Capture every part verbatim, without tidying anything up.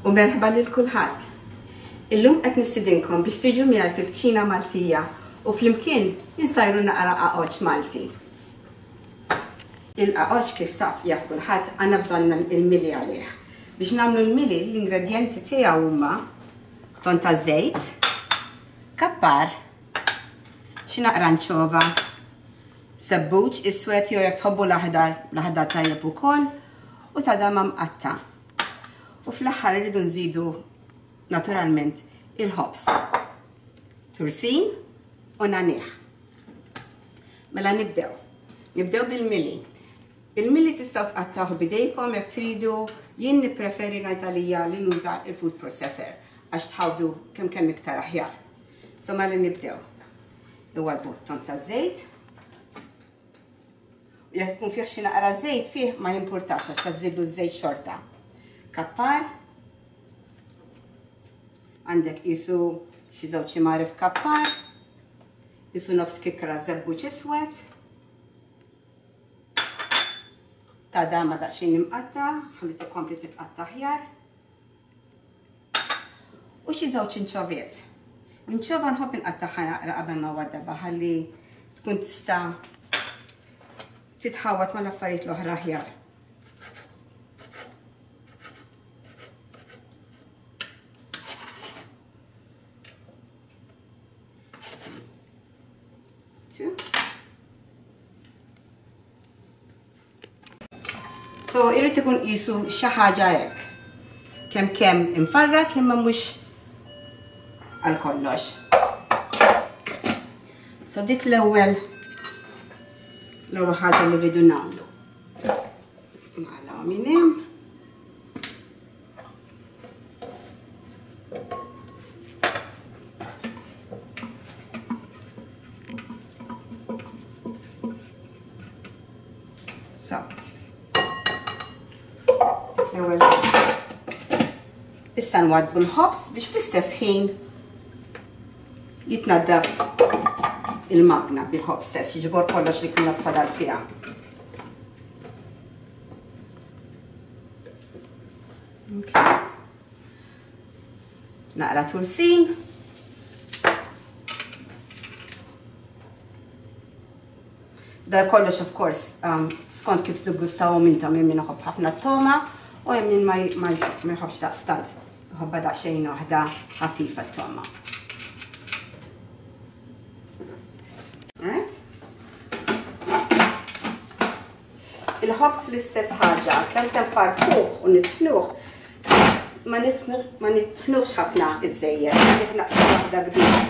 U merħba lil kulħadd. Illum qed nistidinkom biex tiġu miegħi fil-kċina Maltija u flimkien insajru naqra qaqoċċ Malti. Il-qaqoċċ kif taf jaf kulħadd għandna bżonn il-mili għalih. Biex nagħmlu l-mili l-ingredjenti tiegħu huma ton ta' żejt, kappar, xi naqra nċova, sebbuċ iswed jew jekk tħobbu l-aħdar, l-aħdar tajjeb ukoll, u tadama mqatta'. U fl-aħħar irridu nżidu naturalment il-ħobż, tursin u nagħnieh. Mela nibdew. Nibdew bil-mili. Il-mili tistgħu tqattgħuh b'idejkom jekk tridu, jien nippreferi ngħid għalija li nuża il-food processor għax tħawdu kemm kemm iktar aħjar. So mela nibdew. Iwalbu ton ta' żejt. Jekk ikun fih xi naqra żejt fih ma jimpurtax għax se żidu ż-żejt xorta. Kappar, għandek qisu xi żewġ imgħarif kappar, qisu nofs kikra żebbuġ iswed, tadama daqsxejn imqatta, ħalli tkompli titqatta' aħjar, u xi żewġ inċoviet. L-inċova nħobb inqattagħha naqra qabel ma waddabha ħalli tkun tista' titħawat mal-affarijiet l-oħra aħjar. So irrid ikun qisu xi ħaġa hekk. Kemm kemm imfarrak imma mhux għal kollox. So dik l-ewwel l-ewwel ħaġa li rridu nagħmlu. Nagħlaqhom minn hemm. So, l-ewwel issa nwadbu l-ħobż biex fl-istess ħin jitnaddaf il-magna bil-ħobż stess, jiġbor kollox li kien fadal fiha. Okay. Naqra tursin. Da kollox of course um, skont kif tiggustawhom intom, hemm min iħobb ħafna t-toma u hemm min ma jħobbx daqstant, iħobbha daqsxejn waħda ħafifa t-toma. Alright? Il-ħobż l-istess ħaġa, kemm se nfarkuh u nitħnuh, ma nitħnuhx ħafna iżżejjed, nitħnaq xi waħda kbira.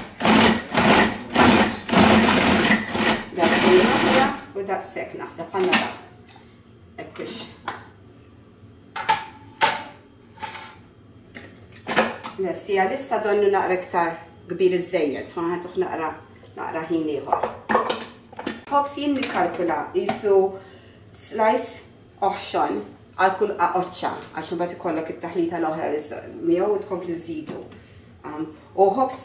U daqshekk naħseb għandna da. Ekkux. Lessija lissa donnu naqra iktar kbir iżżejjed, ma ħantuh naqra naqra ħin ieħor. Ħobż jien nikkalkula qisu slice oħxon għal kull qaqoċċa għax imbagħad ikollok it-taħlita l-oħra li miegħu u tkompli żżidu. U ħobż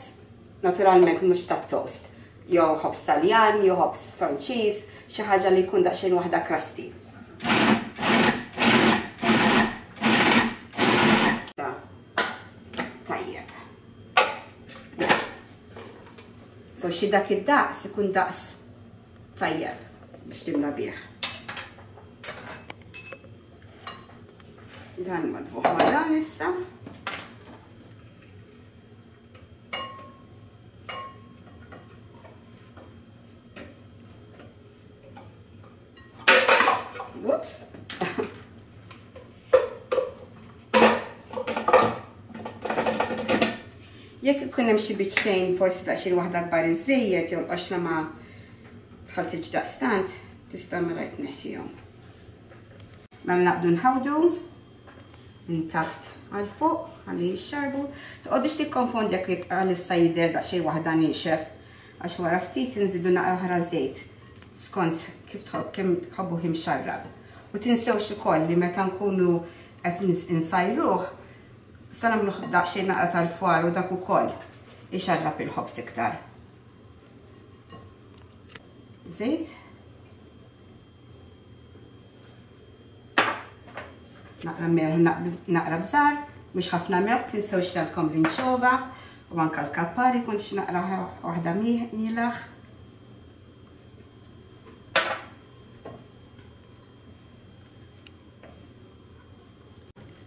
naturalment mhux tat-toast, jew ħobż Taljan, jew ħobż Franċiż, xi ħaġa li jkun daqsxejn waħda krasti. Tajjeb. So xi dak id-daqs ikun daqs tajjeb biex timla bih. Dan madbuħ ma' dan issa. Whoops. Jekk ikun hemm xi biċċejn forsi daqsxejn waħda kbar iżżejjed jew l-qoxra ma tħalltitx daqstant, tista' mela tneħħihom. Mela naqbdu nħawdu minn taħt għal fuq ħalli jixxarbu. Toqgħodux tikkonfondi jekk għalissa jidher daqsxejn waħda niexef għax wara ftit inżidu naqra oħra żejt skont kif tħobb kemm tħobbuh imxarrab. U tinsewx ukoll li meta nkunu qed insajruh sa nagħmluh daqsxejn naqra tal-fwar u dak ukoll ixarrab il-ħobż iktar. Żejt. Naqra melħ, naqra bżar. Mhux ħafna melħ, tinsewx li għandkom l-inċova u anka l-kappari kont xi naqra waħda mielaħ.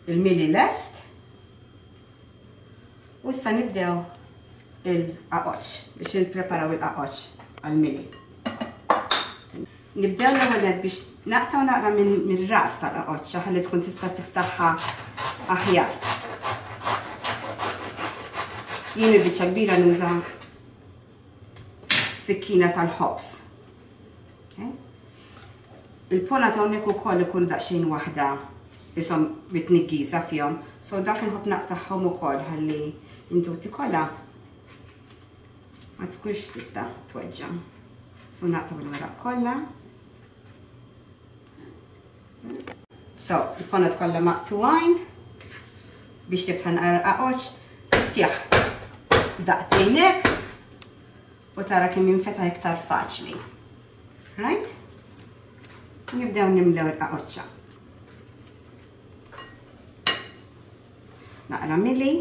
Il-mili lest. U issa nibdew il-qaqoċ biex nippreparaw il-qaqoċ għal-mili. Nibdew l-ewwel biex naqtaw naqra minn ras tal-qaqoċċa ħalli tkun tista' tiftaħha aħjar. Jien il-biċċa kbira nuża sikkina tal-ħobż. Il-pona ta' hawnhekk ukoll ikun daqsxejn waħda ishom bitniggiża fihom, so dak inħobb naqtagħhom ukoll ħalli intu tikola ma tkunx tista' tweġġa'. So naqtaw il-weraq kollha. So, il-ponot kollha maqtuwajn biex tiftaħ naqra qaqoċ, tjaħ daqtejnek u tara kemm jinfetaħ iktar faċli. Right? Nibdew nimlew il-qaqoċċa. Naqra mili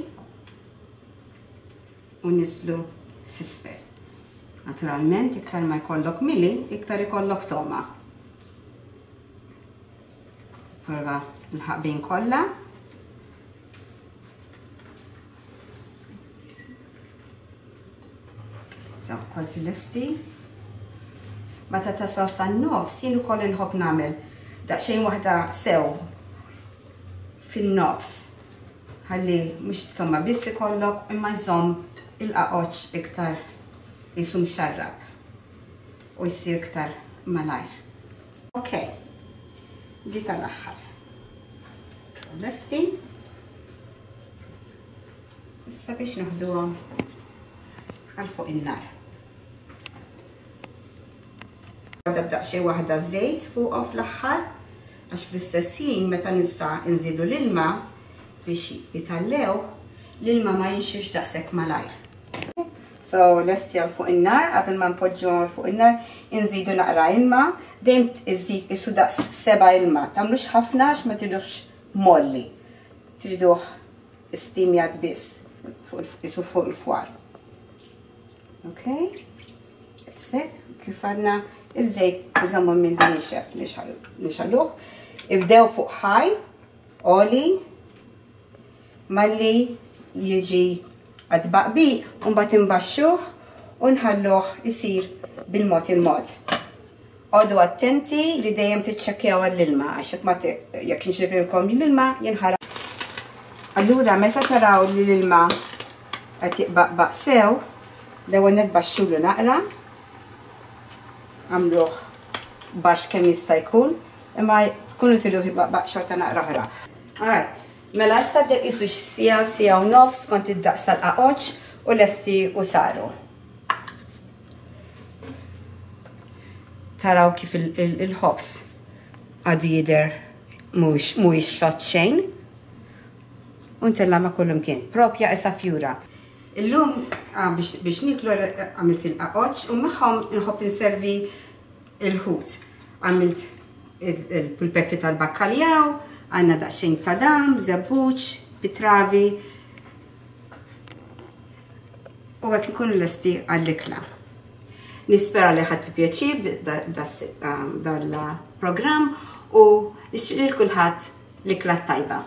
u niżlu s'isfel. Naturalment, iktar ma jkollok mili, iktar ikollok toma. Prova l-ħaqbin kollha. So, kważi lesti. Meta tasal san-nofs, jien ukoll inħobb nagħmel daqsxejn waħda sew fin-nofs. Ħalli mhux toma biss ikollok imma jżomm il-qaqoċ iktar jisum xarrab u jsir iktar malajr. Ok, di tal-aħħar. Lesti. Issa biex noħduhom għal fuq in-nar. Għadda b'daqsxejn waħda żejt fuqhom fl-aħħar, għax fl-istess ħin meta nisa nżidu l-ilma biex jitallew, l-ilma ma jinxifx daqshekk malajr. So, lesti għal fuq in-nar, qabel ma npoġġu għal fuq in-nar, inżidu naqra ilma, dejjem iżid isu daqs seba' ilma. Tagħmlux ħafna għax ma triduhx molli. Triduh istimjat biss isu fuq il-fwar. Ok? Sekk, kif għandna iż-żejt iżommu minn jinxef nixaluh. Ibdew fuq ħaj, oli, malli jiġi għad-baqbiq, u mbagħad imbaxxuh u nħalluh isir bil-mod il-mod. Għodu attenti li dejjem tiċċekkjaw għall-ilma, għax jekk ma jekk jinxifilkom l-ilma jinħaraq. Allura meta taraw li l-ilma qed jiqbaqbaq sew, l-ewwel nitbaxxulu naqra, għamluh baxx kemm jista' jkun, imma tkunu triduh jibaqbaq xorta naqra oħra. Alright. Mela issa qisu sija, sija u nofs kont id-daqs tal-qaqoċ u lesti u saru. Taraw kif il-ħobż għadu jidher mhuwiex xott xejn. U ntella ma' kull imkien. Propja isa fjura. Illum biex niklu għamilt il-qaqoċ u magħhom nħobb inservi il-ħut. Għamilt il-pulpetti tal-bakkaljaw, għanna daqsxejn ta' dam, żebbuġ, bitravi. U hekk ikunu lesti għall-ikla. Nispera li ħadtu pjaċir dal-programm u nixtieq lil kulħadd l-ikla tajba.